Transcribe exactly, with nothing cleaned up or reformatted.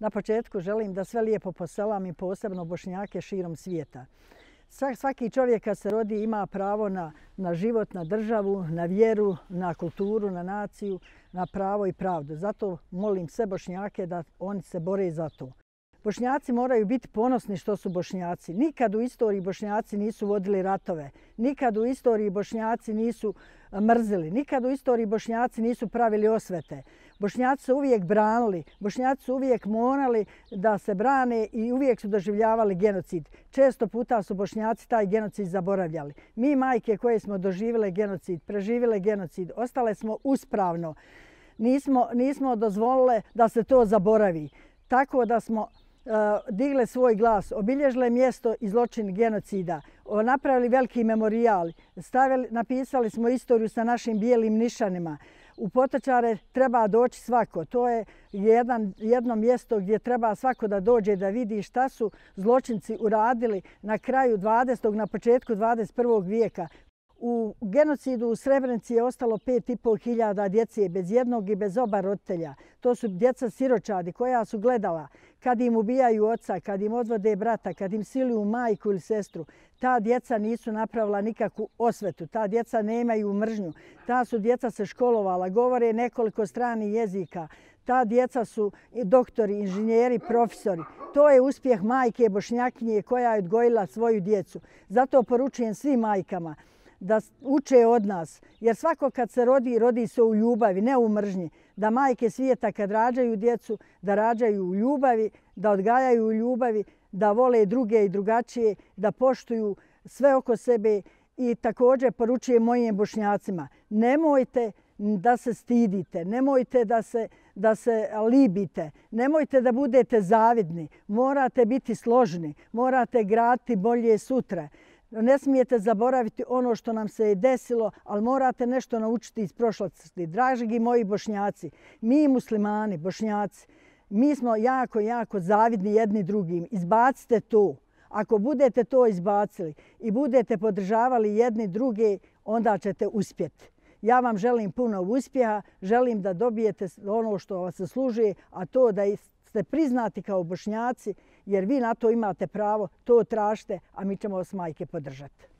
Na početku želim da sve lijepo poselam i posebno Bošnjake širom svijeta. Svaki čovjek kad se rodi ima pravo na, na život, na državu, na vjeru, na kulturu, na naciju, na pravo i pravdu. Zato molim sve Bošnjake da oni se bore za to. Bošnjaci moraju biti ponosni što su Bošnjaci. Nikad u istoriji Bošnjaci nisu vodili ratove. Nikad u istoriji Bošnjaci nisu mrzili. Nikad u istoriji Bošnjaci nisu pravili osvete. Bošnjaci su uvijek branili. Bošnjaci su uvijek morali da se brane i uvijek su doživljavali genocid. Često puta su Bošnjaci taj genocid zaboravljali. Mi majke koje smo doživjele genocid, preživjele genocid, ostale smo uspravno. Nismo, nismo dozvolile da se to zaboravi. Tako da smo digle svoj glas, obilježile mjesto i zločin genocida, napravili veliki memorijal, stavili, napisali smo istoriju sa našim bijelim nišanima. U Potočare treba doći svako. To je jedan, jedno mjesto gdje treba svako da dođe da vidi šta su zločinci uradili na kraju dvadesetog. na početku dvadeset prvog vijeka. U genocidu u Srebrenici je ostalo pet i pol hiljada djece bez jednog i bez oba roditelja. To su djeca siročadi koja su gledala kad im ubijaju oca, kad im odvode brata, kad im siluju majku ili sestru. Ta djeca nisu napravila nikakvu osvetu, ta djeca nemaju mržnju, ta su djeca se školovala, govore nekoliko stranih jezika. Ta djeca su doktori, inženjeri, profesori. To je uspjeh majke Bošnjakinje koja je odgojila svoju djecu. Zato poručujem svim majkama da uče od nas, jer svako kad se rodi, rodi se u ljubavi, ne u mržnji. Da majke svijeta kad rađaju djecu, da rađaju u ljubavi, da odgajaju u ljubavi, da vole druge i drugačije, da poštuju sve oko sebe. I također poručujem mojim Bošnjacima, nemojte da se stidite, nemojte da se, da se libite, nemojte da budete zavidni, morate biti složni, morate graditi bolje sutra. Ne smijete zaboraviti ono što nam se je desilo, ali morate nešto naučiti iz prošlosti. Dragi moji Bošnjaci, mi muslimani, Bošnjaci, mi smo jako, jako zavidni jedni drugim. Izbacite to. Ako budete to izbacili i budete podržavali jedni druge, onda ćete uspjeti. Ja vam želim puno uspjeha, želim da dobijete ono što vas zaslužuje, a to da ste priznati kao Bošnjaci, jer vi na to imate pravo, to tražite, a mi ćemo vas majke podržati.